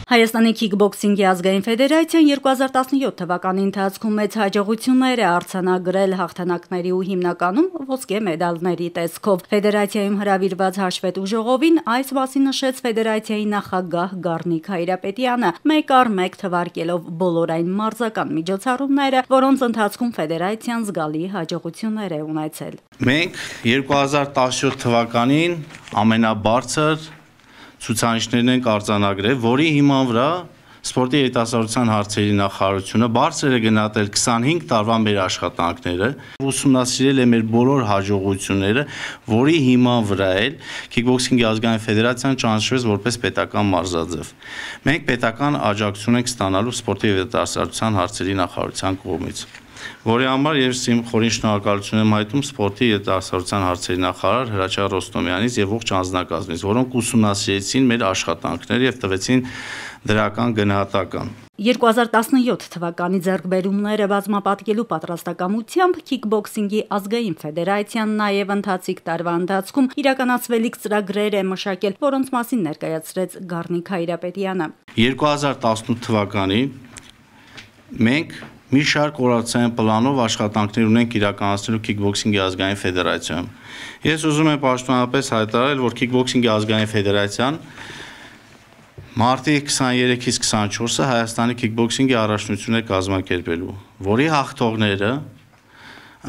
Հայաստանի քիքբոքսինգի ազգային ֆեդերացիան 2017 թվականի ընթացքում մեծ հաջողություններ է արձանագրել հաղթանակների ու հիմնականում ոսկե մեդալների տեսքով։ Ֆեդերացիայում հրավիրված հաշվետու ժողովին այս մասին նշեց ֆեդերացիայի նախագահ Գառնիկ Հայրապետյանը, մեկ առ մեկ թվարկելով բոլոր այն մարզական միջոցառումները, որոնց ընթացքում ֆեդերացիան զգալի հաջողություններ է ունեցել։ Մենք 2017 թվականին ամենաբարձր ցուցանիշներն են արձանագրել, որի հիման վրա Սպորտի երիտասարդության հարցերի նախարարությունը բարձր է գնահատել 25 տարվա մեր աշխատանքները, ուսումնասիրել է մեր բոլոր հաջողությունները, որի հիման վրա էլ քիքբոքսինգի ազգային ֆեդերացիան ճանաչվեց որպես պետական մարզաձև։ Մենք պետական աջակցություն ենք ստանալու Սպորտի երիտասարդության հարցերի նախարարության կողմից, որի համար ես իմ խորին շնորհակալություն եմ հայտնում Սպորտի երիտասարդության հարցերի նախարար Հրաչյա Ռոստոմյանից եւ ողջ անձնակազմից, որոնք ուսումնասիրեցին մեր աշխատանքները եւ տվեցին դրական գնահատական։ 2017 թվականի ձեռքբերումները բազմապատկելու պատրաստակամությամբ քիքբոքսինգի ազգային ֆեդերացիան նաև ընթացիկ տարվա ընթացքում իրականացվելիք ծրագրեր է մշակել, որոնց մասին ներկայացրեց Գառնիկ Հայրապետյանը։ 2018 թվականին մենք մի շարք օրացիային պլանով աշխատանքներ ունենք իրականացնելու քիքբոքսինգի ազգային ֆեդերացիայում։ Ես ուզում եմ պաշտոնապես հայտարարել, որ քիքբոքսինգի ազգային ֆեդերացիան մարտի 23-ից 24-ը Հայաստանի քիքբոքսինգի առաջնություն է կազմակերպելու, որի հաղթողները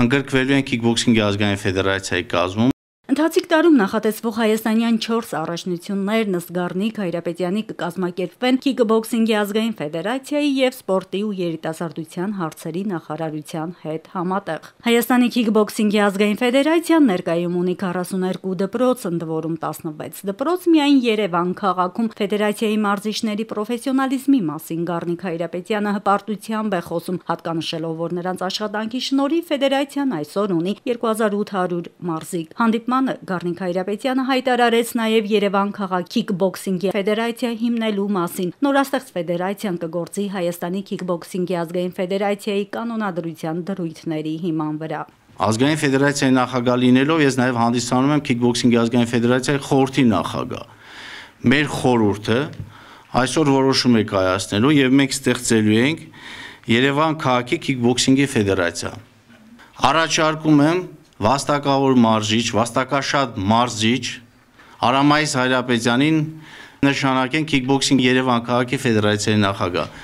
ընդգրկվելու են քիքբոքսինգի ազգային ֆեդերացիայի կազմում։ Ընթացիկ տարում նախատեսվող հայաստանյան 4 առաջնություններն ըստ Գառնիկ Հայրապետյանի կկազմակերպվեն քիքբոքսինգի ազգային ֆեդերացիայի եւ սպորտի ու երիտասարդության հարցերի նախարարության հետ համատեղ։ Հայաստանի քիքբոքսինգի ազգային ֆեդերացիան ներկայում ունի 42 դպրոց, ընդ որում 16 դպրոց միայն Երևան քաղաքում։ Ֆեդերացիայի մարզիչների պրոֆեսիոնալիզմի մասին Գառնիկ Հայրապետյանը հպարտությամբ է խոսում, հատկանշելով, որ նրանց աշխատանքի շնորհիվ ֆեդերացիան այսօր ունի 2800 մարզիկ։ Գառնիկ Հայրապետյանը հայտարարեց նաև Երևան քաղաքի քիքբոքսինգի ֆեդերացիա հիմնելու մասին։ Նորաստեղծ ֆեդերացիան կգործի Հայաստանի քիքբոքսինգի ազգային ֆեդերացիայի կանոնադրության դրույթների հիման վրա։ Ազգային ֆեդերացիայի նախագահ լինելով ես նաև հանդիսանում եմ քիքբոքսինգի ազգային ֆեդերացիայի խորհրդի նախագահ։ Մեր խորհուրդը այսօր որոշում է կայացնելու եւ մենք ստեղծելու ենք Երևան քաղաքի քիքբոքսինգի ֆեդերացիա։ Առաջարկում եմ վաստակավոր մարզիչ, վաստակաշատ մարզիչ Արամայիս Հայրապետյանին նշանակեն քիքբոքսինգ Երևան քաղաքի ֆեդերացիայի նախագահ։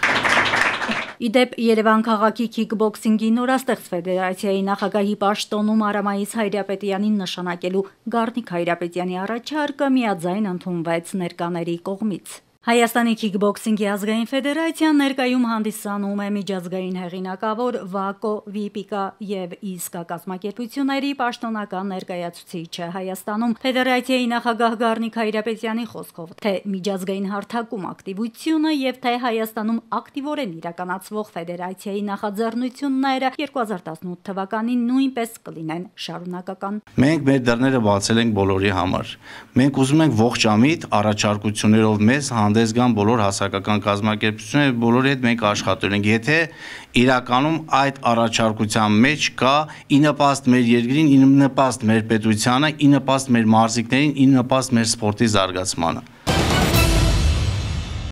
Իդեպ Երևան քաղաքի քիքբոքսինգի նորաստեղծ ֆեդերացիայի նախագահի պաշտոնում Արամայիս Հայրապետյանին նշանակելու Գառնիկ Հայրապետյանի առաջարկը միաձայն ընդունվեց ներկաների կողմից։ Հայաստանի քիքբոքսինգի ազգային ֆեդերացիան ներկայում հանդիսանում է միջազգային հեղինակավոր ՎԱԿՕ, ՎԻՊԻԿԱ եւ ԻՍԿԱ կազմակերպությունների պաշտոնական ներկայացուցիչը Հայաստանում։ Ֆեդերացիայի նախագահ Գառնիկ Հայրապետյանի խոսքով, թե միջազգային հարթակում ակտիվությունը եւ թե Հայաստանում ակտիվորեն իրականացվող ֆեդերացիայի նախաձեռնությունները 2018 թվականին նույնպես կլինեն շարունակական։ Մենք մեր դռները բացել ենք բոլորի համար։ Մենք ուզում ենք ողջամիտ առաջարկություններով մեզ հանդես գան բոլոր հասարակական կազմակերպությունները, բոլորի հետ մենք աշխատել ենք։ Եթե իրականում այդ առաջարկության մեջ կա ի նպաստ մեր երկրին, ի նպաստ մեր պետությանը, ի նպաստ մեր մարզիկներին, ի նպաստ մեր սպորտի զարգացմանը։